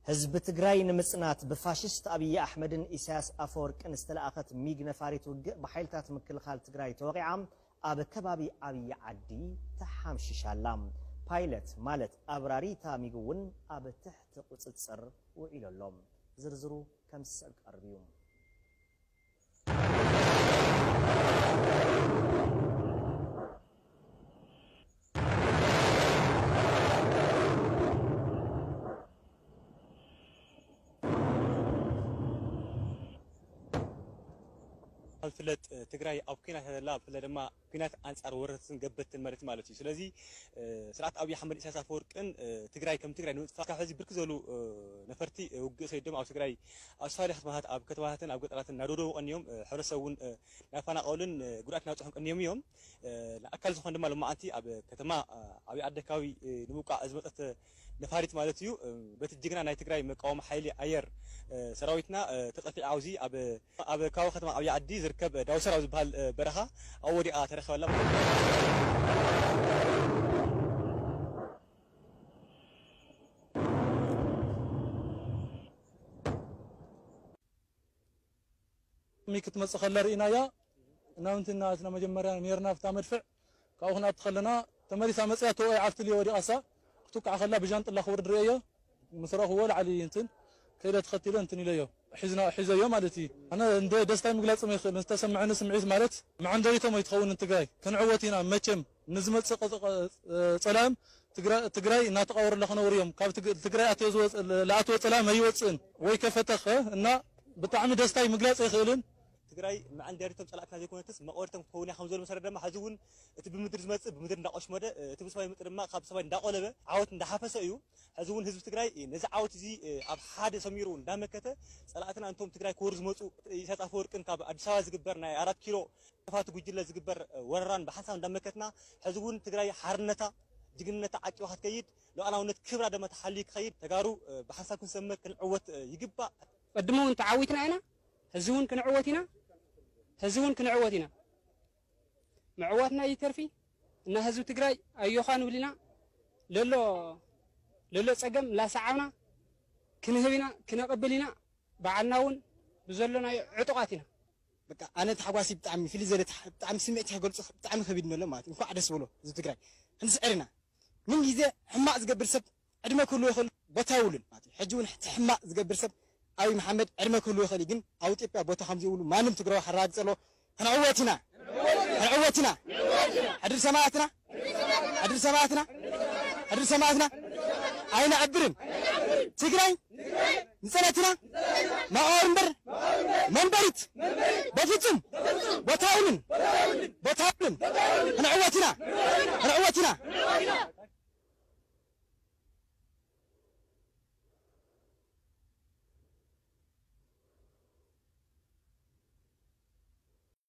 ህዝቢ ትግራይ ንምጽናት ብፋሽስት ኣብይ ኣሕመድን ኢሳያስ ኣፈወርቅን ዝተለኣኸት ሚግ ነፋሪት ውግእ ብሓይልታት ምክልኻል ትግራይ ተወቒዓ ኣብ ከባቢ ኣብይ ዓዲ ተሓምሺሻ ኣላ። ፓይለት ማለት ኣብራሪ እታ ሚግ እውን ኣብ ትሕቲ ቁጽጽር ውዒሉ ኣሎ። ዝርዝሩ ከም ዝስዕብ ክቐርብ እዩ። ዝፍለጥ ትግራይ ኣብ ኲናት እያ ዘላ። ብፍላይ ድማ ኲናት ኣንጻር ወረርትን ገበትን መሬት ማለት እዩ። ስለዚ ስርዓት ኣብይ ኣሕመድ ኢሳያስ ኣፈወርቅን ትግራይ ከም ትግራይ ንምጥፋእ ካብ ሕዚ ብርክት ዝበሉ ነፈርቲ ውግእ ሰዲዶም ኣብ ትግራይ ኣብ ዝተፈላለዩ ከተማታት ኣብ ከተማታትን ኣብ ገጠራትን እናደብደቡ ቀንዮም። ሕብረተሰብ እውን እናፈናቀሉን ጉድኣት እናብፅሑን ቀንዮም እዮም። ንኣካል ዝኾነ ድማ ሎማዓንቲ ኣብ ከተማ ኣብይ ዓዲ ኣካባቢ ንምውቃዕ ዝመፀት ነፋሪት ማለት እዩ። በቲ ጅግና ናይ ትግራይ መቃወሚ ሓይሊ ኣየር ሰራዊትና ተጠፊዓ ኣብዚ ኣብ ኣብ ከባቢ ከተማ ዓብዪ ዓዲ ዝርከብ ዳውሰር ኣብ ዝበሃል በረኻ ኣብ ወዲቓ ተረኸበላ። ሚ ክትመጽእ ከላ ርኢናያ። እናምንትና እትና መጀመርያ ነርና ኣብታ መድፍዕ ካብኡ ክንኣቲ ከለና ተመሊሳ መጽያ ተወ ዓፍትል ወዲቓሳ ክትውቃዕ ከላ ብጃንጥላ ክወርድ ርእየዮ። ምስ ረእኽዎ ላዕሊ እንትን ከይደ ተኸቲለ እንትን ኢለዮ ሒዝና ሒዘዮ ማለት እዩ። ኣነ እንደ ደስታይ ምግላጽ ይኽእል ዝተሰምዐኒ ስምዒት ማለት መዓንደሪቶም ኣይትኸውን ትግራይ ክንዕወት ኢና መቸም ንዝመጽእ ጸላም ትግራይ እናተቃወሩ ኣለኽነውር እዮም ካብ ትግራይ ኣትዮ ዝኣትወ ጸላም ኣይወፅእን ወይ ከፈተኸ እና ብጣዕሚ ደስታይ ምግላጽ ኣይኽእልን። ትግራይ መዐንደሪቶም ፀላእትና ዘይኮነትስ መቐወድቶም ክኸውን እያ ከምዝበሉ መሰረት ድማ ሕዚ እውን እቲ ብምድሪ ዝመፅእ ብምድሪ እንዳቆሽመደ እቲ ብሰማይ ዝመፅእ ድማ ካብ ሰማይ እንዳቆለበ ዓወት እንዳሓፈሰ እዩ። ሕዚ እውን ህዝቢ ትግራይ ነዚ ዓወት እዚ ኣብ ሓደ ሰሚሩ እንዳመከተ ፀላእትና እንቶም ትግራይ ክወሩ ዝመፁ ኢሳያስ ኣፈወርቅን ካብ ኣዲስ ኣበባ ዝግበር ናይ ኣራት ኪሎ ጥፋት ጉጅለ ዝግበር ወረራን ብሓንሳብ እንዳመከትና ሕዚ እውን ትግራይ ሓርነታ ጅግንነታ ዓቂባ ክትከይድ ሉዓላውነት ክብራ ደማ ተሓልዩ ክኸይድ ተጋሩ ብሓንሳብ ክንሰምር ክንዕወት ይግባእ። ቅድሚ እውን ተዓዊትና ኢና፣ ሕዚ እውን ክንዕወት ኢና፣ ሕዚ እውን ክንዕወት ኢና። ምዕዋትና ይተርፊ እና ህዝቢ ትግራይ ኣዮኻ ንብል ኢና። ለሎ ለሎ ፀገም ላሰዓብና ክንህብ ኢና፣ ክነቕብል ኢና። ባዕልና እውን ብዘሎናዮ ዕጡቓት ኢና። በቃ ኣነ ታሕጓሲ ብጣዕሚ ፍልይ ዘለ ብጣዕሚ ስምዒት ክገልፁ ብጣዕሚ ከቢድ ነሎ ማለት እዩ። እንኳዕ ደስ በሎ ህዝቢ ትግራይ ክንስዕር ኢና። ምን ግዜ ሕማቕ ዝገብር ሰብ ዕድመ ክህልዎ ይኽእል ቦታ የብሉን ማለት እዩ። ሕጂ እውን እቲ ሕማቕ ዝገብር ሰብ ኣብይ መሓመድ ዕድመ ክህልዎ ይኽእል እዩ፣ ግን ኣብ ኢትዮጵያ ቦታ ከም ዘይብሉ ማንም ትግራዊ ከረጋግፅ ኣለዎ። ክንዕወት ኢና፣ ክንዕወት ኢና። ሕድሪ ሰማእትና፣ ሕድሪ ሰማእትና፣ ሕድሪ ሰማእትና ኣይነዕብርን። ትግራይ ንፀላእትና መቓብር እምበር መንበሪት በፍፁም ቦታ የብሉን፣ ቦታ የብሉን። ክንዕወት ኢና፣ ክንዕወት ኢና።